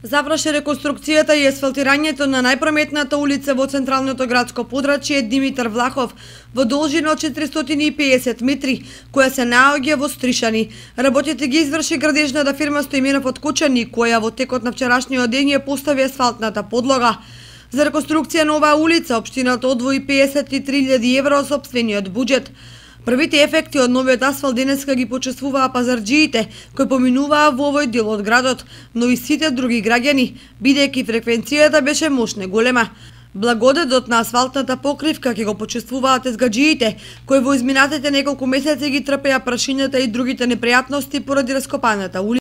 Заврши реконструкцијата и асфалтирањето на најпрометната улица во централното градско подрачје Димитар Влахов во должина од 450 метри, која се наоѓа во Стришани. Работите ги изврши градежната фирма Стоименов од Кучани, која во текот на вчерашниот ден ја постави асфалтната подлога. За реконструкција на оваа улица општината одвои 53.000 евро од сопствениот буџет. Првите ефекти од новиот асфалт денеска ги почувствуваа пазарџиите кои поминуваа во овој дел од градот, но и сите други граѓани, бидејќи фреквенцијата беше мощно голема. Благодетот на асфалтната покривка ќе го почувствуваат езгаџиите, кои во изминатите неколку месеци ги трпеа прашињата и другите непријатности поради раскопаната улица.